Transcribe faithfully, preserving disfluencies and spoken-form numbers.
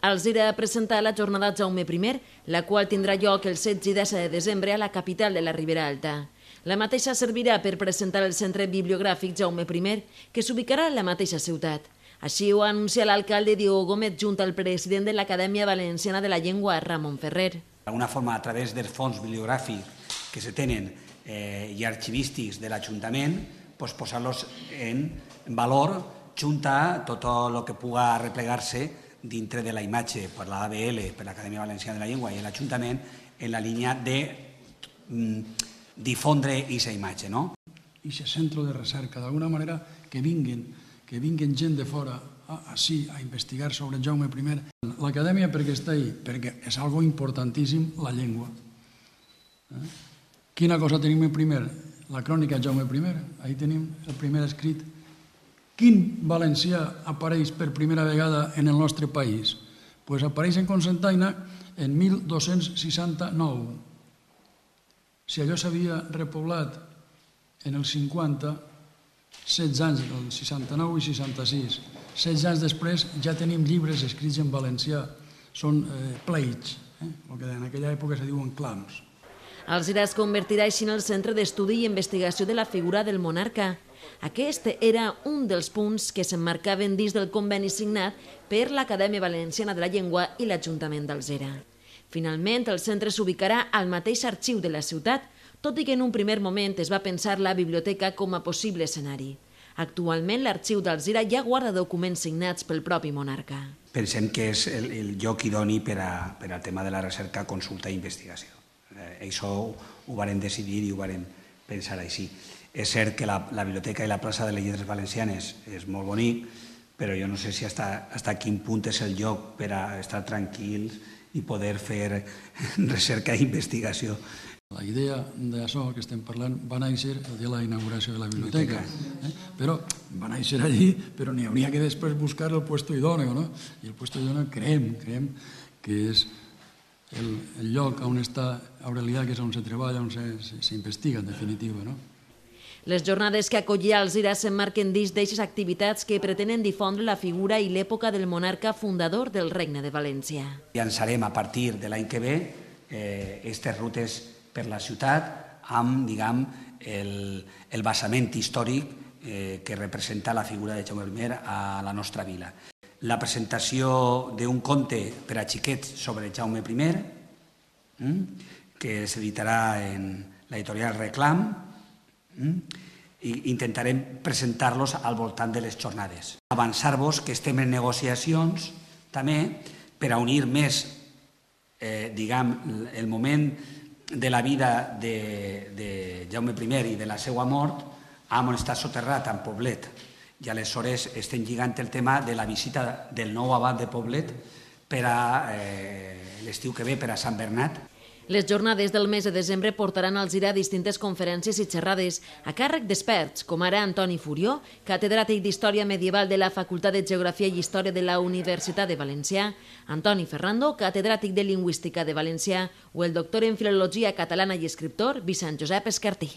Alzira presentat la jornada Jaume I, la qual tindrà lloc el setze i disset de desembre a la capital de la Ribera Alta. La mateixa servirà per presentar el Centre Bibliogràfic Jaume I, que s'ubicarà en la mateixa ciutat. Així ho anuncia l'alcalde Diego Gómez junt al president de l'Acadèmia Valenciana de la Llengua, Ramon Ferrer. D'alguna forma, a través dels fons bibliogràfics que se tenen eh, i arxivístics de l'Ajuntament, pues, posar-los en valor junt a tot el que puga replegar-se dintre de la imatge per l'A B L, per l'Acadèmia Valenciana de la Llengua i l'Ajuntament, en la línia de mm, difondre aquesta imatge, no? I aquest centre de recerca, d'alguna manera, que vinguin, que vinguin gent de fora així a investigar sobre Jaume I. L'Acadèmia perquè està ahí? Perquè és algo importantíssim la llengua. Eh? Quina cosa tenim en primer? La crònica Jaume I. Ahí tenim el primer escrit. Quin valencià apareix per primera vegada en el nostre país? Pues apareix en Cocentaina en mil dos-cents seixanta-nou. Si allò s'havia repoblat en el cinquanta, setze anys, el seixanta-nou i seixanta-sis, setze anys després ja tenim llibres escrits en valencià. Són eh, pleits, eh? el que en aquella època se diuen clams. Alzira es convertirà així en el centre d'estudi i investigació de la figura del monarca. Aquest era un dels punts que s'emmarcaven dins del conveni signat per l'Acadèmia Valenciana de la Llengua i l'Ajuntament d'Alzira. Finalment, el centre s'ubicarà al mateix arxiu de la ciutat, tot i que en un primer moment es va pensar la biblioteca com a possible escenari. Actualment, l'arxiu d'Alzira ja guarda documents signats pel propi monarca. Pensem que és el, el lloc idoni per, a, per al tema de la recerca, consulta i investigació. Eh, això ho, ho varen decidir i ho varen pensar així. És cert que la, la biblioteca i la plaça de les Lletres Valencianes és molt bonic, però jo no sé si hasta, hasta quin punt és el lloc per a estar tranquils i poder fer recerca i investigació. La idea d'això que estem parlant va néixer el dia de la inauguració de la biblioteca, eh? però va néixer allí, però n'hi hauria que després buscar el puesto idòneo, no? I el puesto idòneo creiem, creiem que és el, el lloc on està Aurelià, que és on se treballa, on s'investiga, en definitiva, no? Les jornades que acollia Alzira s'emmarquen dins d'eixes activitats que pretenen difondre la figura i l'època del monarca fundador del Regne de València. Llançarem a partir de l'any que ve aquestes eh, rutes per la ciutat amb, diguem, el, el basament històric eh, que representa la figura de Jaume I a la nostra vila. La presentació d'un conte per a xiquets sobre Jaume I, mm, que s'editarà en l'editorial Reclam, i intentarem presentar-los al voltant de les jornades. Avançar-vos que estem en negociacions també per a unir més eh, diguem, el moment de la vida de, de Jaume I i de la seva mort amb on està soterrat, en Poblet. I aleshores estem lligant el tema de la visita del nou abat de Poblet per a eh, l'estiu que ve, per a Sant Bernat. Les jornades del mes de desembre portaran a Alzira distintes conferències i xerrades a càrrec d'experts, com ara Antoni Furió, catedràtic d'Història Medieval de la Facultat de Geografia i Història de la Universitat de València, Antoni Ferrando, catedràtic de Lingüística de València, o el doctor en Filologia Catalana i escriptor Vicent Josep Escartí.